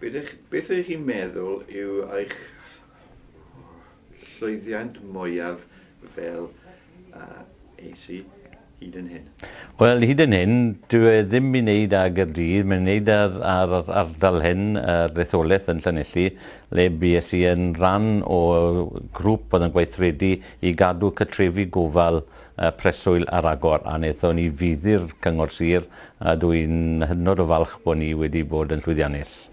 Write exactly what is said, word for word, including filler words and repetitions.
Beth, beth ydych chi'n meddwl yw eich llwyddiant mwyaf fel uh, A C hyd yn hyn? Wel, hyd yn hyn, dwi e ddim i wneud â Gaerdydd, mae'n wneud ar, ar ardal hyn, yr etholaeth yn Llanelli, le bues i yn rhan o grŵp oedd yn gweithredu i gadw cartrefi gofal uh, preswyl ar agor, a wnaethon ni fuddu'r Cyngor Sir, a dwi'n hynod o falch bod ni wedi bod yn llwyddiannus.